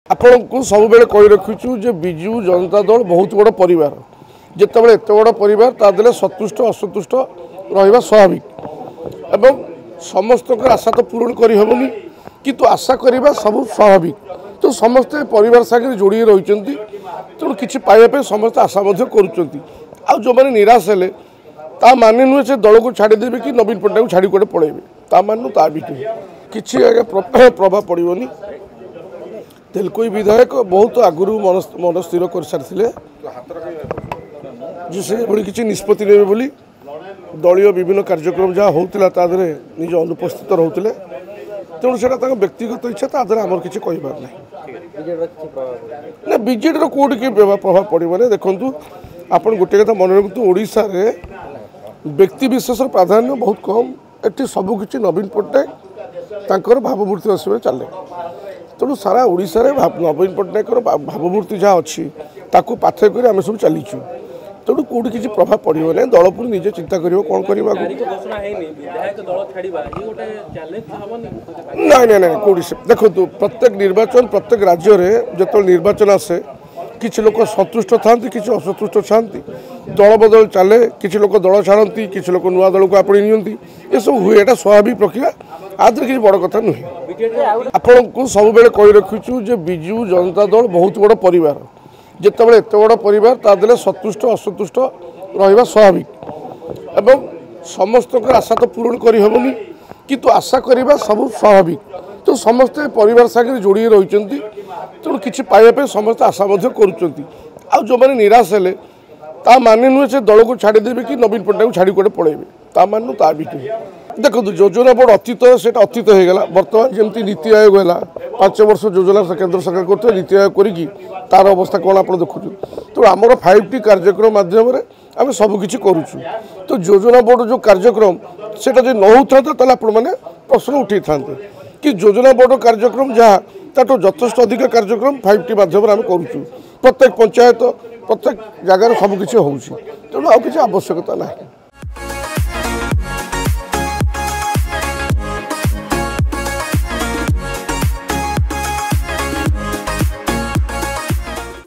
ଆପଣଙ୍କୁ ସବୁବେଳେ କହି ରଖୁଛୁ ଯେ ବିଜୁ ଜନତା ଦଳ ବହୁତ ବଡ଼ ପରିବାର। ଯେତେବେଳେ ଏତେ ବଡ଼ ପରିବାର, ତା ଦେହରେ ସନ୍ତୁଷ୍ଟ ଅସନ୍ତୁଷ୍ଟ ରହିବା ସ୍ୱାଭାବିକ ଏବଂ ସମସ୍ତଙ୍କର ଆଶା ତ ପୂରଣ କରିହେବନି, କିନ୍ତୁ ଆଶା କରିବା ସବୁ ସ୍ୱାଭାବିକ। ତ ସମସ୍ତେ ପରିବାର ସାଙ୍ଗରେ ଯୋଡ଼ି ରହିଛନ୍ତି, ତେଣୁ କିଛି ପାଇବା ପାଇଁ ସମସ୍ତେ ଆଶା ମଧ୍ୟ କରୁଛନ୍ତି। ଆଉ ଯେଉଁମାନେ ନିରାଶ ହେଲେ, ତା ମାନେ ନୁହେଁ ସେ ଦଳକୁ ଛାଡ଼ିଦେବେ କି ନବୀନ ପଟ୍ଟନାୟକକୁ ଛାଡ଼ି କୁଆଡ଼େ ପଳେଇବେ, ତା ମାନେ ନୁହେଁ। ତା ବି ନୁହେଁ, କିଛି ଆଜ୍ଞା ପ୍ରଭାବ ପଡ଼ିବନି। ତେଲକୋଇ ବିଧାୟକ ବହୁତ ଆଗରୁ ମନ ସ୍ଥିର କରିସାରିଥିଲେ ଯେ ସେ ଏଭଳି କିଛି ନିଷ୍ପତ୍ତି ନେବେ ବୋଲି। ଦଳୀୟ ବିଭିନ୍ନ କାର୍ଯ୍ୟକ୍ରମ ଯାହା ହେଉଥିଲା, ତା ଦେହରେ ନିଜ ଅନୁପସ୍ଥିତ ରହୁଥିଲେ। ତେଣୁ ସେଇଟା ତାଙ୍କ ବ୍ୟକ୍ତିଗତ ଇଚ୍ଛା, ତା ଦେହରେ ଆମର କିଛି କହିବାର ନାହିଁ। ନା, ବିଜେଡ଼ିର କେଉଁଠି କି ପ୍ରଭାବ ପଡ଼ିବନି। ଦେଖନ୍ତୁ, ଆପଣ ଗୋଟିଏ କଥା ମନେ ରଖନ୍ତୁ, ଓଡ଼ିଶାରେ ବ୍ୟକ୍ତି ବିଶେଷର ପ୍ରାଧାନ୍ୟ ବହୁତ କମ୍। ଏଠି ସବୁକିଛି ନବୀନ ପଟ୍ଟନାୟକ ତାଙ୍କର ଭାବମୂର୍ତ୍ତି ହିସାବରେ ଚାଲେ। ତେଣୁ ସାରା ଓଡ଼ିଶାରେ ନବୀନ ପଟ୍ଟନାୟକର ଭାବମୂର୍ତ୍ତି ଯାହା ଅଛି, ତାକୁ ପାଥେୟ କରି ଆମେ ସବୁ ଚାଲିଛୁ। ତେଣୁ କେଉଁଠି କିଛି ପ୍ରଭାବ ପଡ଼ିବ ନାହିଁ। ଦଳ ପୁଣି ନିଜେ ଚିନ୍ତା କରିବ କ'ଣ କରିବ ଆଗକୁ। ନାଇଁ ନାଇଁ ନାଇଁ, କେଉଁଠି। ଦେଖନ୍ତୁ, ପ୍ରତ୍ୟେକ ନିର୍ବାଚନ, ପ୍ରତ୍ୟେକ ରାଜ୍ୟରେ ଯେତେବେଳେ ନିର୍ବାଚନ ଆସେ, କିଛି ଲୋକ ସନ୍ତୁଷ୍ଟ ଥାନ୍ତି, କିଛି ଅସନ୍ତୁଷ୍ଟ ଥାନ୍ତି। ଦଳ ବଦଳ ଚାଲେ, କିଛି ଲୋକ ଦଳ ଛାଡ଼ନ୍ତି, କିଛି ଲୋକ ନୂଆ ଦଳକୁ ଆପଣେଇ ନିଅନ୍ତି, ଏସବୁ ହୁଏ। ଏଇଟା ସ୍ୱାଭାବିକ ପ୍ରକ୍ରିୟା, ଆ ଦେହରେ କିଛି ବଡ଼ କଥା ନୁହେଁ। ଆପଣଙ୍କୁ ସବୁବେଳେ କହି ରଖୁଛୁ ଯେ ବିଜୁ ଜନତା ଦଳ ବହୁତ ବଡ଼ ପରିବାର। ଯେତେବେଳେ ଏତେ ବଡ଼ ପରିବାର, ତା ଦେହରେ ସନ୍ତୁଷ୍ଟ ଅସନ୍ତୁଷ୍ଟ ରହିବା ସ୍ୱାଭାବିକ ଏବଂ ସମସ୍ତଙ୍କର ଆଶା ତ ପୂରଣ କରିହେବନି, କିନ୍ତୁ ଆଶା କରିବା ସବୁ ସ୍ୱାଭାବିକ। ତ ସମସ୍ତେ ପରିବାର ସାଙ୍ଗରେ ଯୋଡ଼ି ରହିଛନ୍ତି, ତେଣୁ କିଛି ପାଇବା ପାଇଁ ସମସ୍ତେ ଆଶା ମଧ୍ୟ କରୁଛନ୍ତି। ଆଉ ଯେଉଁମାନେ ନିରାଶ ହେଲେ, ତା ମାନେ ନୁହେଁ ସେ ଦଳକୁ ଛାଡ଼ିଦେବେ କି ନବୀନ ପଟ୍ଟନାୟକକୁ ଛାଡ଼ି କୁଆଡ଼େ ପଳେଇବେ, ତା ମାନେ ନୁହେଁ, ତା ବି ନୁହେଁ। ଦେଖନ୍ତୁ, ଯୋଜନା ବୋର୍ଡ଼ ଅତୀତ, ସେଇଟା ଅତୀତ ହେଇଗଲା। ବର୍ତ୍ତମାନ ଯେମିତି ନୀତି ଆୟୋଗ ହେଲା, 5 ବର୍ଷ ଯୋଜନା କେନ୍ଦ୍ର ସରକାର କରୁଥିଲେ, ନୀତି ଆୟୋଗ କରିକି ତାର ଅବସ୍ଥା କ'ଣ ଆପଣ ଦେଖୁଛନ୍ତି। ତେଣୁ ଆମର 5ଟି କାର୍ଯ୍ୟକ୍ରମ ମାଧ୍ୟମରେ ଆମେ ସବୁକିଛି କରୁଛୁ। ତ ଯୋଜନା ବୋର୍ଡ଼ ଯେଉଁ କାର୍ଯ୍ୟକ୍ରମ, ସେଇଟା ଯଦି ନ ହେଉଥାନ୍ତା, ତାହେଲେ ଆପଣମାନେ ପ୍ରଶ୍ନ ଉଠେଇଥାନ୍ତେ କି ଯୋଜନା ବୋର୍ଡ଼ର କାର୍ଯ୍ୟକ୍ରମ ଯାହା, ତାଠୁ ଯଥେଷ୍ଟ ଅଧିକ କାର୍ଯ୍ୟକ୍ରମ 5ଟି ମାଧ୍ୟମରେ ଆମେ କରୁଛୁ। ପ୍ରତ୍ୟେକ ପଞ୍ଚାୟତ, ପ୍ରତ୍ୟେକ ଜାଗାରେ ସବୁକିଛି ହେଉଛି, ତେଣୁ ଆଉ କିଛି ଆବଶ୍ୟକତା ନାହିଁ।